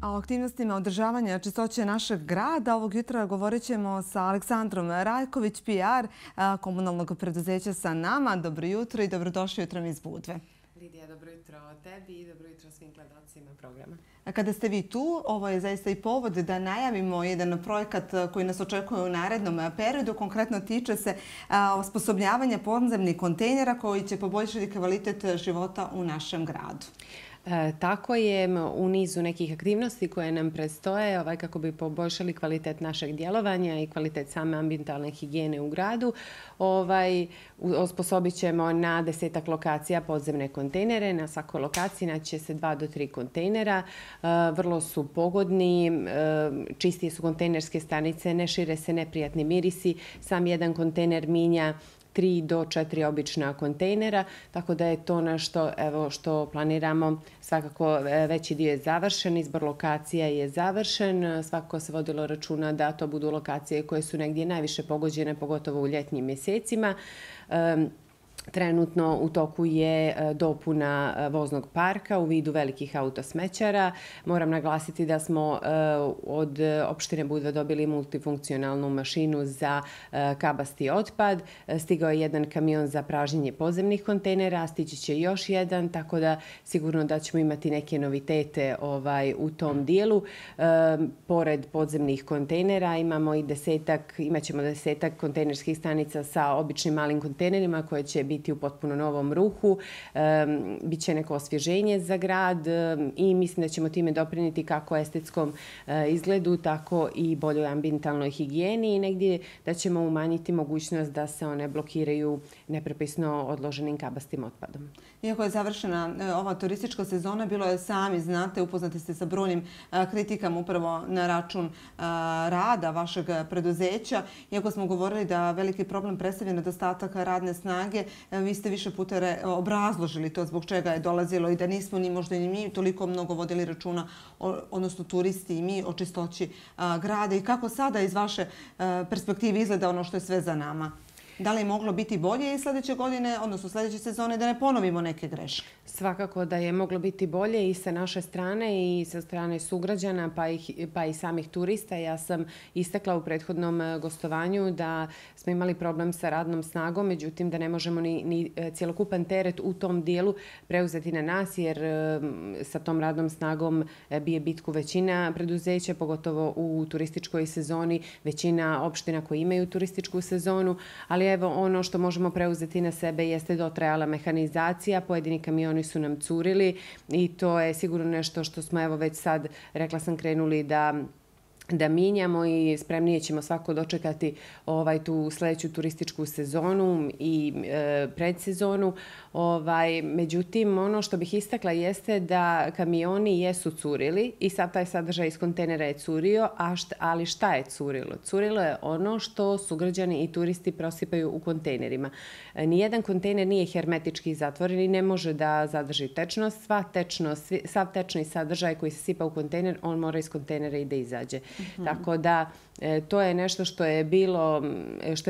A o aktivnostima održavanja čistoće našeg grada ovog jutra govorit ćemo sa Aleksandrom Rajković, PR komunalnog preduzeća Sa nama. Dobro jutro i dobrodošli jutrom iz Budve. Lidija, dobro jutro tebi i dobro jutro svim gledalcima programa. Kada ste vi tu, ovo je zaista i povod da najavimo jedan projekat koji nas očekuje u narednom periodu. Konkretno tiče se osposobljavanja podzemnih kontejnera koji će poboljšati kvalitet života u našem gradu. Tako je, u nizu nekih aktivnosti koje nam predstoje kako bi poboljšali kvalitet našeg djelovanja i kvalitet same ambientalne higijene u gradu. Osposobit ćemo na 10 lokacija podzemne kontejnere. Na svakoj lokaciji naći će se 2 do 3 kontejnera. Vrlo su pogodni, čistije su kontejnerske stanice, ne šire se neprijatni mirisi. Sam jedan kontejner minja 3 do 4 obična kontejnera, tako da je to nešto što planiramo. Svakako veći dio je završen, izbor lokacija je završen, svakako se vodilo računa da to budu lokacije koje su negdje najviše pogođene, pogotovo u ljetnim mjesecima. Trenutno u toku je dopuna voznog parka u vidu velikih autosmećara. Moram naglasiti da smo od opštine Budva dobili multifunkcionalnu mašinu za kabasti otpad. Stigao je jedan kamion za pražnjenje podzemnih kontejnera, stići će još jedan, tako da sigurno da ćemo imati neke novitete u tom dijelu. Pored podzemnih kontejnera imat ćemo 10 kontejnerskih stanica sa običnim malim kontejnerima koje će biti u potpuno novom ruhu. Biće neko osvježenje za grad i mislim da ćemo time doprinijeti kako estetskom izgledu, tako i boljoj ambientalnoj higijeni i negdje da ćemo umanjiti mogućnost da se one blokiraju neprepisno odloženim kabastim otpadom. Iako je završena ova turistička sezona, bilo je, sami znate, upoznati ste sa brojnim kritikama upravo na račun rada vašeg preduzeća. Iako smo govorili da veliki problem predstavlja nedostatak radne snage, vi ste više puta obrazložili to zbog čega je dolazilo i da nismo ni možda ni mi toliko mnogo vodili računa, odnosno turisti i mi, o čistoći grada. I kako sada iz vaše perspektive izgleda ono što je sve za nama? Da li je moglo biti bolje i sljedeće godine, odnosno sljedeće sezone, da ne ponovimo neke greške? Svakako da je moglo biti bolje i sa naše strane i sa strane sugrađana pa i samih turista. Ja sam istakla u prethodnom gostovanju da smo imali problem sa radnom snagom, međutim da ne možemo ni cjelokupan teret u tom dijelu preuzeti na nas jer sa tom radnom snagom bije bitku većina preduzeća, pogotovo u turističkoj sezoni, većina opština koje imaju turističku sezonu, ali evo ono što možemo preuzeti na sebe jeste dotrajala mehanizacija, pojedini kamioni su nam curili i to je sigurno nešto što smo već sad, rekla sam, krenuli da mijenjamo i spremnije ćemo svako dočekati tu sljedeću turističku sezonu i predsezonu. Međutim, ono što bih istakla jeste da kamioni jesu curili i sad taj sadržaj iz kontejnera je curio, ali šta je curilo? Curilo je ono što sugrađani i turisti prosipaju u kontejnerima. Nijedan kontejner nije hermetički zatvoren i ne može da zadrži tečnost. Sav tečni sadržaj koji se sipa u kontejner, on mora iz kontejnera i da izađe. Tako da to je nešto što je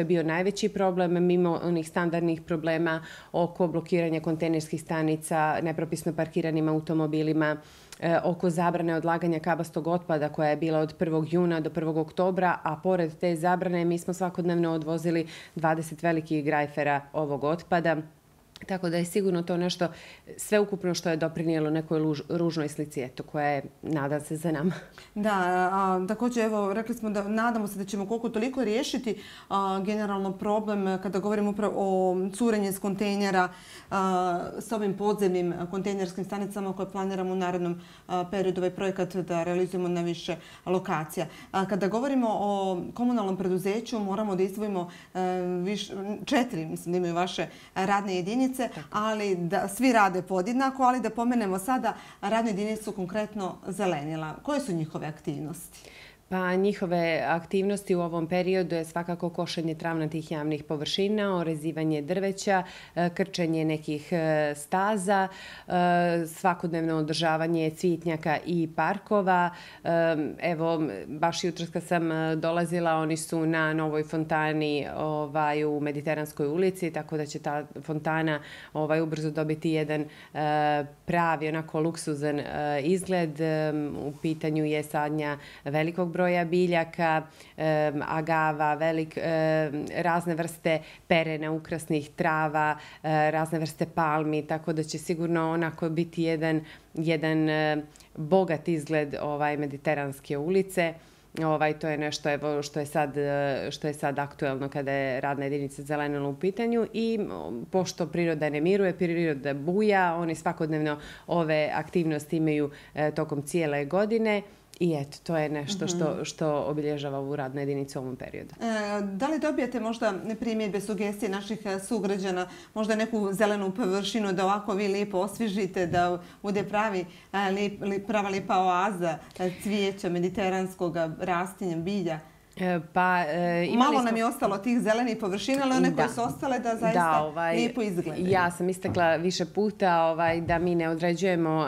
bio najveći problem mimo onih standardnih problema oko blokiranja kontejnerskih stanica, nepropisno parkiranim automobilima, oko zabrane odlaganja kabastog otpada koja je bila od 1. juna do 1. oktobra, a pored te zabrane mi smo svakodnevno odvozili 20 velikih grajfera ovog otpada. Tako da je sigurno to nešto sveukupno što je doprinijelo nekoj ružnoj slici, koja je, nadam se, za nama. Da, također, rekli smo da nadamo se da ćemo koliko toliko riješiti generalno problem kada govorimo upravo o curenju iz kontejnera s ovim podzemnim kontejnerskim stanicama koje planiramo u narednom periodu ovaj projekat da realizujemo na više lokacija. Kada govorimo o komunalnom preduzeću, moramo da izdvojimo 4, mislim da imaju vaše radne jedinice, ali da svi rade podjednako, ali da pomenemo sada radnu jedinicu konkretno Zelenila. Koje su njihove aktivnosti? Pa njihove aktivnosti u ovom periodu je svakako košenje travnatih javnih površina, orezivanje drveća, krčenje nekih staza, svakodnevno održavanje cvitnjaka i parkova. Evo, baš jutros kad sam dolazila, oni su na novoj fontani u Mediteranskoj ulici, tako da će ta fontana ubrzo dobiti jedan pravi, onako luksuzan izgled. U pitanju je sadnja velikog broja biljaka, agava, razne vrste perena, ukrasnih trava, razne vrste palmi, tako da će sigurno onako biti jedan bogat izgled Mediteranske ulice. To je nešto što je sad aktuelno kada je radna jedinica Zelenilo u pitanju i pošto priroda ne miruje, priroda buja, oni svakodnevno ove aktivnosti imaju tokom cijele godine. I eto, to je nešto što obilježava ovu radnu jedinicu u ovom periodu. Da li dobijate možda primjedbe, sugestije naših sugrađana, možda neku zelenu površinu da ovako vi lijepo osvježite, da bude prava lijepa oaza cvijeća mediteranskog rastinja, bilja? Malo nam je ostalo tih zelenih površina, ali one koje su ostale da zaista lijepo izgledaju. Ja sam istakla više puta da mi ne određujemo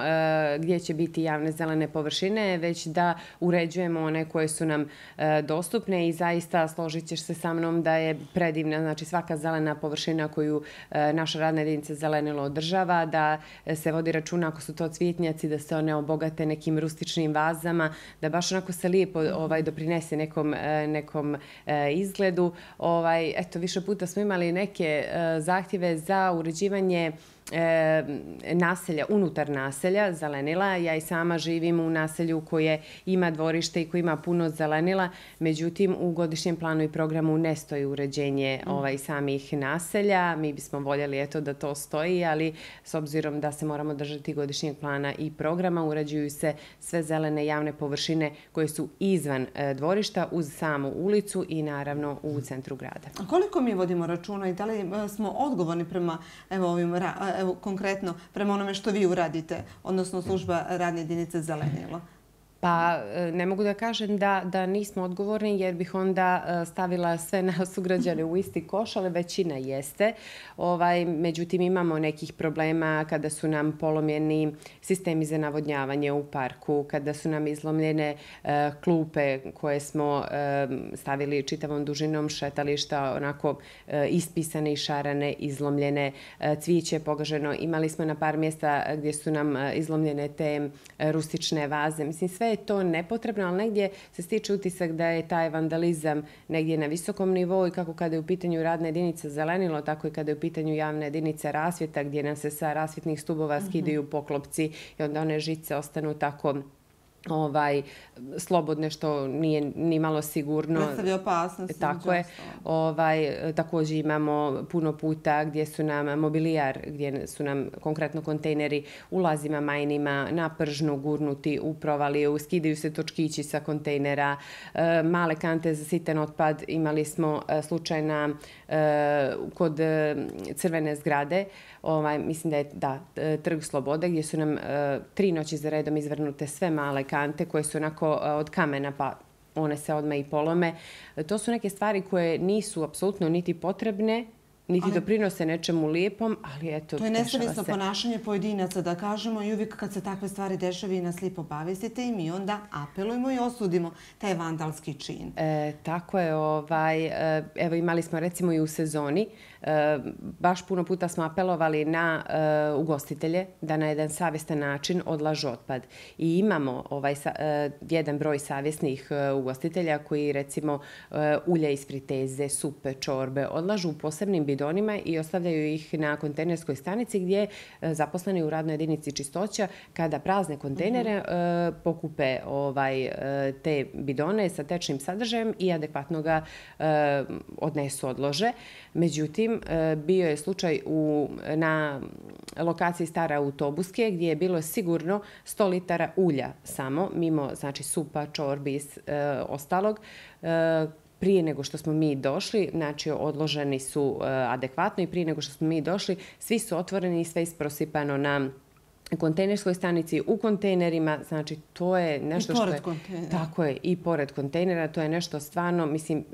gdje će biti javne zelene površine, već da uređujemo one koje su nam dostupne i zaista složit ćeš se sa mnom da je predivna, znači svaka zelena površina koju naša radna jedinica Zelenilo održava, da se vodi računa ako su to cvjetnjaci, da se one obogate nekim rustičnim vazama, da baš onako se lijepo doprinese nekom izgledu. Eto, više puta smo imali neke zahtjeve za uređivanje naselja, unutar naselja zelenila. Ja i sama živim u naselju koje ima dvorište i koje ima puno zelenila, međutim u godišnjem planu i programu ne stoji uređenje samih naselja. Mi bismo voljeli da to stoji, ali s obzirom da se moramo držati godišnjeg plana i programa, uređuju se sve zelene javne površine koje su izvan dvorišta uz samu ulicu i naravno u centru grada. A koliko mi vodimo računa i da li smo odgovorni prema konkretno prema onome što vi uradite, odnosno služba radne jedinice Zelenilo? Pa ne mogu da kažem da nismo odgovorni jer bih onda stavila sve nas sugrađane u isti koš, ali većina jeste. Međutim, imamo nekih problema kada su nam polomljeni sistemi za navodnjavanje u parku, kada su nam izlomljene klupe koje smo stavili čitavom dužinom šetališta, onako ispisane i šarane, izlomljene, cvijeće je pogaženo. Imali smo na par mjesta gdje su nam izlomljene te rustične vaze. Mislim, sve je to nepotrebno, ali negdje se stiče utisak da je taj vandalizam negdje na visokom nivou i kako kada je u pitanju radna jedinica Zelenilo, tako i kada je u pitanju javna jedinica rasvjeta gdje nam se sa rasvjetnih stubova skidaju poklopci i onda one žice ostanu tako slobodne, što nije ni malo sigurno. Predstavlja opasnost. Tako je. Također imamo puno puta gdje su nam mobilijar, gdje su nam konkretno kontejneri u lazima majnima na pržnu gurnuti u provaliju, skidaju se točkići sa kontejnera, male kante za sitan otpad. Imali smo slučaj kod Crvene zgrade, mislim da je Trg Slobode, gdje su nam 3 noći za redom izvrnute sve male kante koje su onako od kamena, pa one se odmah i polome. To su neke stvari koje nisu apsolutno niti potrebne, niti doprinose nečemu lijepom, ali eto, to je nesavjesno ponašanje pojedinaca, da kažemo, i uvijek kad se takve stvari dešava i nas lijepo obavestite i mi onda apelujemo i osudimo taj vandalski čin. Tako je. Evo, imali smo recimo i u sezoni, baš puno puta smo apelovali na ugostitelje da na jedan savjestan način odlažu otpad. I imamo jedan broj savjesnih ugostitelja koji recimo ulja iz friteze, supe, čorbe odlažu u posebnim bidonima i ostavljaju ih na kontejnerskoj stanici gdje zaposleni u radnoj jedinici čistoća kada prazne kontejnere pokupe te bidone sa tečnim sadržajem i adekvatno ga odnesu, odlože. Međutim, bio je slučaj na lokaciji Stare autobuske gdje je bilo sigurno 100 litara ulja samo, mimo znači supa, čorbi i ostalog. Prije nego što smo mi došli, znači odloženi su adekvatno i prije nego što smo mi došli, svi su otvoreni i sve isprosipano na kontejnerskoj stanici, u kontejnerima, znači to je nešto što je... I pored kontejnera. Tako je, i pored kontejnera, to je nešto stvarno, mislim,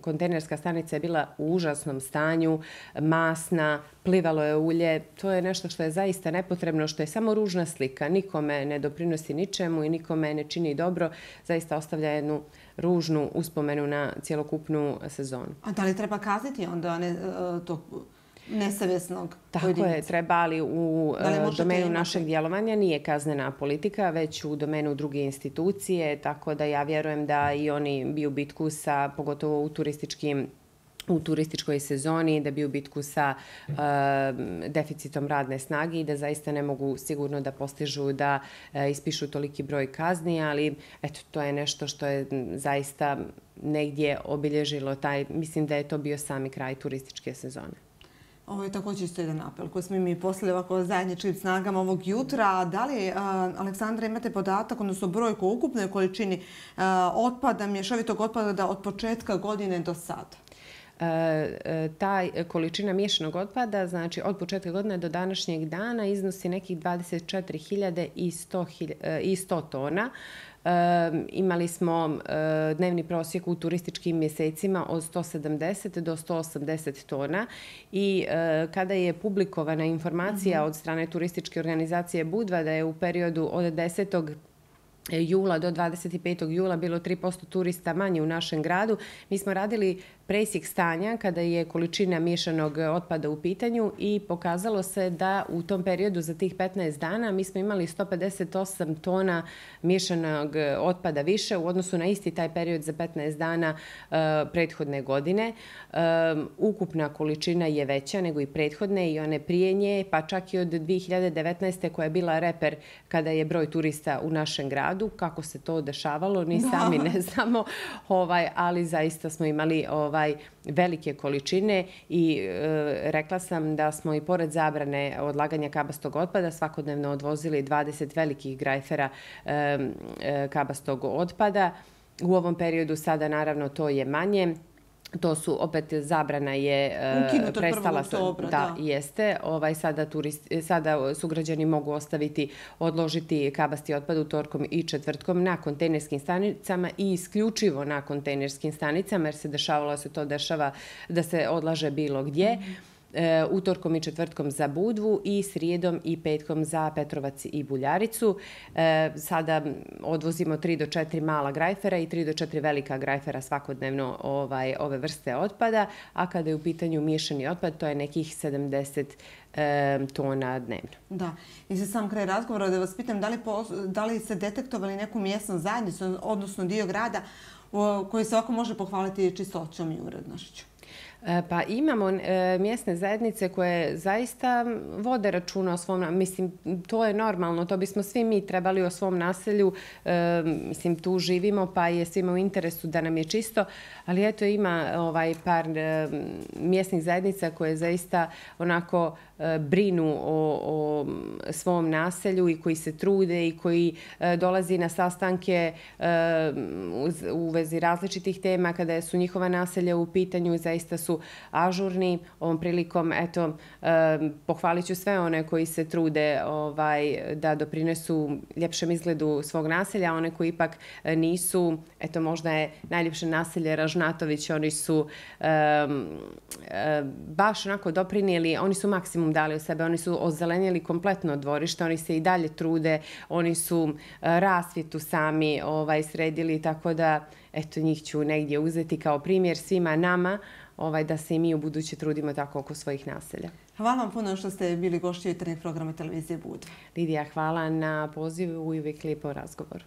kontejnerska stanica je bila u užasnom stanju, masna, plivalo je ulje, to je nešto što je zaista nepotrebno, što je samo ružna slika, nikome ne doprinosi ničemu i nikome ne čini dobro, zaista ostavlja jednu ružnu uspomenu na cjelokupnu sezonu. A da li treba kazniti onda to nesavjesnog pojedinca? Tako je, treba, ali u domenu našeg djelovanja nije kaznena politika, već u domenu druge institucije, tako da ja vjerujem da i oni biju bitku sa, pogotovo u turističkoj sezoni, da biju bitku sa deficitom radne snage i da zaista ne mogu sigurno da postižu da ispišu toliki broj kazni, ali eto, to je nešto što je zaista negdje obilježilo mislim da je to bio sami kraj turističke sezone. Ovo je također isto jedan apel koji smo mi poslali ovako zajedničkim snagama ovog jutra. Da li, Aleksandra, imate podatak, odnosno brojku o ukupnoj količini otpada, mješovitog otpada od početka godine do sada? Ta količina miješanog otpada, znači od početka godine do današnjeg dana, iznosi nekih 24.100 tona. Imali smo dnevni prosjek u turističkim mjesecima od 170 do 180 tona i kada je publikovana informacija od strane turističke organizacije Budva da je u periodu od 10. jula do 25. jula bilo 3% turista manje u našem gradu, mi smo radili presjek stanja kada je količina miješanog otpada u pitanju i pokazalo se da u tom periodu za tih 15 dana mi smo imali 158 tona miješanog otpada više u odnosu na isti taj period za 15 dana prethodne godine. Ukupna količina je veća nego i prethodne i one prije nje, pa čak i od 2019. koja je bila reper kada je broj turista u našem gradu. Kako se to dešavalo, ni sami ne znamo, ali zaista smo imali velike količine i rekla sam da smo i pored zabrane odlaganja kabastog otpada svakodnevno odvozili 20 velikih grajfera kabastog otpada. U ovom periodu sada naravno to je manje. To su, opet, zabrana je prestala. Da, jeste. Sada sugrađani mogu odložiti kabasti otpad utorkom i četvrtkom na kontejnerskim stanicama i isključivo na kontejnerskim stanicama, jer se dešava da se odlaže bilo gdje. Utorkom i četvrtkom za Budvu i srijedom i petkom za Petrovac i Buljaricu. Sada odvozimo 3 do 4 mala grajfera i 3 do 4 velika grajfera svakodnevno ove vrste otpada, a kada je u pitanju miješani otpad, to je nekih 70 tona dnevno. Da. I za sam kraj razgovora da vas pitam da li ste detektovali neku mjesnu zajednicu, odnosno dio grada koji se ovako može pohvaliti čistoćom i urednošću? Pa imamo mjesne zajednice koje zaista vode računa o svom, mislim, to je normalno, to bismo svi mi trebali o svom naselju, mislim, tu živimo pa je svima u interesu da nam je čisto, ali eto ima par mjesnih zajednica koje zaista onako brinu o svom naselju i koji se trude i koji dolazi na sastanke u vezi različitih tema kada su njihova naselja u pitanju, zaista su ažurni. Ovom prilikom, eto, pohvalit ću sve one koji se trude da doprinesu ljepšem izgledu svog naselja, one koji ipak nisu, eto, možda je najljepše naselje Ražnatović, oni su baš onako doprinijeli, oni su maksimum dali od sebe, oni su ozelenjeli kompletno dvorište, oni se i dalje trude, oni su rasvjetu sami sredili, tako da, eto, njih ću negdje uzeti kao primjer svima nama, da se i mi u buduće trudimo tako oko svojih naselja. Hvala vam puno što ste bili gošći jutarnjeg programa televizije Budva. Lidija, hvala na pozivu i uvijek lijepom razgovoru.